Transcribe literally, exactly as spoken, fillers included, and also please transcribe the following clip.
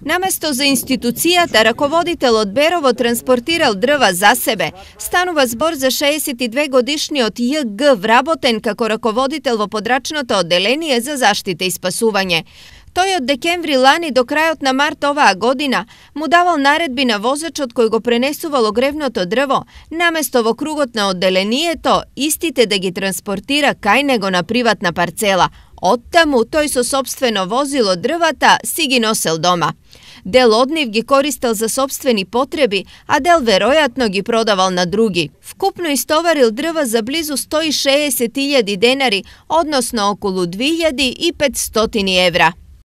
Наместо за институцијата, раководителот Берово транспортирал дрва за себе. Станува збор за шеесет и две годишниот Ј Г вработен како раководител во подрачното одделение за заштита и спасување. Тој од декември лани до крајот на март оваа година му давал наредби на возачот кој го пренесувал огревното дрво, наместо во кругот на одделението, истите да ги транспортира кај него на приватна парцела. Оттаму тој со сопствено возило дрвата си ги носел дома. Дел од нив ги користел за сопствени потреби, а дел веројатно ги продавал на други. Вкупно истоварил дрва за близу сто и шеесет илјади денари, односно околу две илјади и петстотини евра.